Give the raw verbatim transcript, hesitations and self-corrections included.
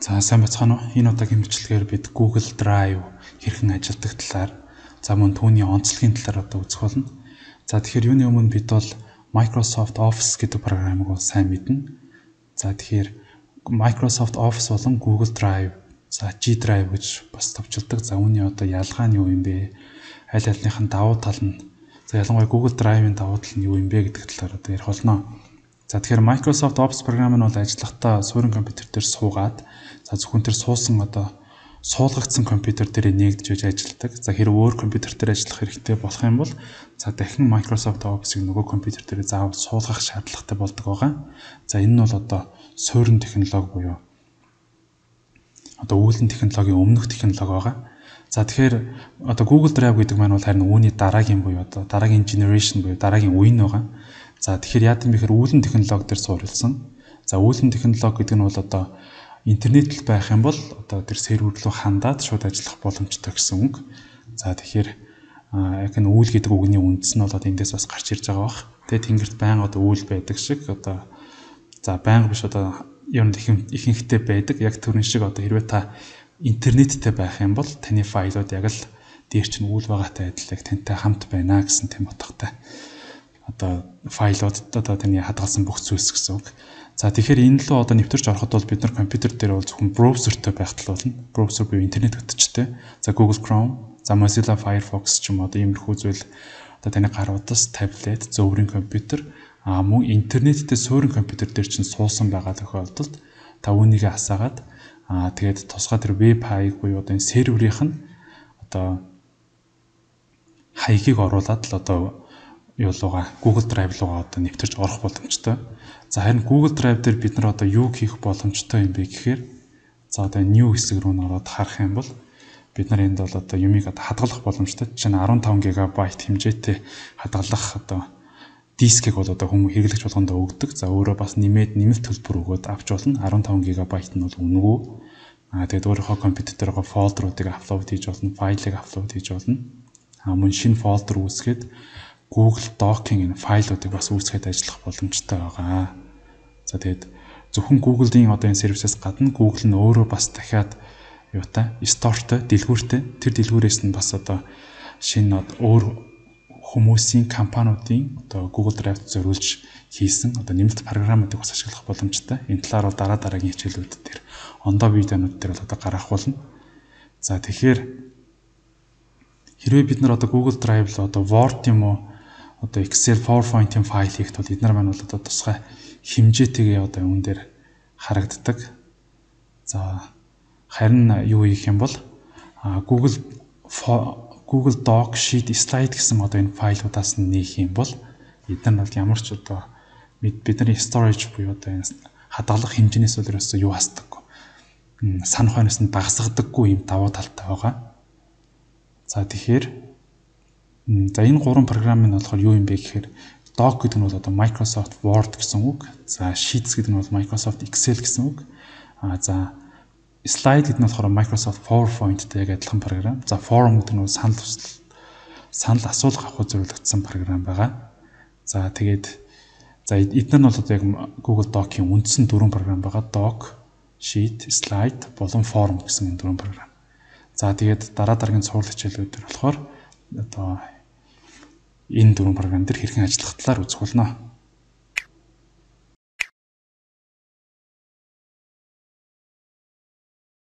За сайн бацгаана уу. Энэ удаагийн бичлэгээр бид Google Drive хэрхэн ажилладаг талаар, за мөн түүний онцлогийн талаар одоо үзэх болно. За тэгэхээр юуны өмнө бид бол Microsoft Office гэдэг програмыг бол сайн мэднэ. За тэгэхээр Microsoft Office болон Google Drive, за G Drive гэж бас товчилдог. За үүний одоо ялгаа нь юу юм бэ? Аль альныхын давуу тал нь, за ялангуяа Google Drive-ийн давуу тал нь юу юм бэ гэдэг талаар одоо ярих болно. За тэгэхээр Microsoft Office програм нь бол ажиллахдаа суурин компьютер дээр суугаад, за зөвхөн тэр суусан одоо суулгагдсан компьютер дээр нээгдэж ажилладаг. За хэрэг өөр компьютер дээр ажиллах хэрэгтэй болох юм бол, за дахин Microsoft Office-ыг нөгөө компьютер дээр заавал суулгах шаардлагатай болдог байгаа. За энэ нь бол одоо суурин технологи буюу одоо үүлэн технологийн өмнөх технологи байгаа. За тэгэхээр одоо Google Drive гэдэг маань бол харин үүний дараагийн буюу одоо дараагийн generation буюу дараагийн үе нь байгаа. За тэгэхээр яа гэм бэхээр үүлэн технологи дээр суурилсан. За үүлэн технологи гэдэг нь бол одоо интернет л байх юм бол одоо тэр сервер рүү хандаад шууд ажиллах боломжтой гэсэн үг. За тэгэхээр яг нь үйл гэдэг үгний үндэс нь бол эндээс бас гарч ирж байгаа бах. Тэгээ тэнгэрт байнга одоо үйл байдаг шиг одоо за байнга биш одоо ер нь ихэнхдээ байдаг. Яг төрөн шиг одоо хэрвээ та интернеттэй байх юм бол таны файлууд яг л дээр чинь үйл байгаатай адил яг тантай хамт байна гэсэн тийм утгатай. Одоо файлууд одоо таны хадгалсан бүх зүйлс гэсэн үг. За тэгэхээр энэ лөө одоо нэвтэрч ороход бол бид нар компьютер дээр бол зөвхөн браузертэй байх тал болно. Браузер буюу интернет утастай. За Google Chrome, за Mozilla Firefox ч юм уу одоо иймэрхүү зүйл одоо таны гар утас, таблет, зөөврийн компьютер а мөн интернеттэй суурин компьютер дээр чинь суусан байгаа тохиолдолд та үүнийг асаагаад аа тэгээд тусгай тэр веб хаяг буюу одоо энэ серверийнх нь одоо хаягийг оруулаад л одоо юу лугаа Google Drive лугаа одоо нэвтэрч орох боломжтой. За харин Google Drive дээр бид нар одоо юу хийх боломжтой юм бэ гэхээр, за одоо new хэсэг рүү н ороод харах юм бол бид нар энд бол одоо юмыг одоо хадгалах боломжтой. Жишээ нь арван таван гигабайт хэмжээтэй хадгалах одоо дискийг бол одоо хүмүүс хэрэглэгч болгондоо өгдөг. За өөрөө бас нэмээд нэмэлт төлбөр өгөөд авч болно. арван таван гигабайт нь бол үнэгүй. Аа тэгээд өөрийнхөө компьютер дээр гоо фолдеруудыг аплод хийж болно, файлыг аплод хийж болно. Аа мөн шинэ фолдер үүсгээд Google Doc-ийн энэ файлуудыг бас үүсгээд ажиллах боломжтой байгаа. За тэгээд зөвхөн Google-ийн одоо энэ сервисээс гадна Google нь өөрөө бас дахиад юутай, стоreтой, дэлгүүртэй. Тэр дэлгүүрээс нь бас одоо шинэ өөр хүмүүсийн компаниудын одоо Google Drive-д зориулж хийсэн одоо нэмэлт програмуудыг бас ашиглах боломжтой. Энэ талаар бол дараа дараагийн хичээлүүд дээр ондоо видеонууд дээр бол одоо гаргах болно. За тэгэхээр хэрвээ бид нар одоо Google Drive л одоо Word юм уу одоо Excel, PowerPoint-ийн файл хийхэд бол эдгээр маань бол одоо тусгай хэмжээтэйгээ одоо үүн дээр харагддаг. За харин юу хийх юм бол Google Google Doc, Sheet, Slide гэсэн одоо энэ файлуудаас нь нээх юм бол эдгээр нь бол ямар ч одоо бидний storage буюу одоо энэ хадгалах хэмжээнээс бол ерөөсөө юу хасдаггүй. Санах хойноос нь багасгадаггүй юм давуу талтай байгаа. За тэгэхээр за энэ гурван програм нь болохоор юу юм бэ гэхээр Doc гэдэг нь бол одоо Microsoft Word гэсэн үг. За Sheets гэдэг нь бол Microsoft Excel гэсэн үг. А за Slide гэдэг нь болохоор Microsoft PowerPoint-тэй яг адилхан програм. За Forum гэдэг нь бол санал санал асуулга авахд зориулагдсан програм байгаа. За тэгээд за эдгээр нь бол одоо яг Google Doc-ийн үндсэн дөрвөн програм байгаа. Doc, Sheet, Slide болон Forum гэсэн энэ дөрвөн програм. За тэгээд дараа дараагийн цуврал хичээлүүд дээр болохоор одоо энэ дөрвөн програм дээр хэрхэн ажиллах талаар үзэх болно.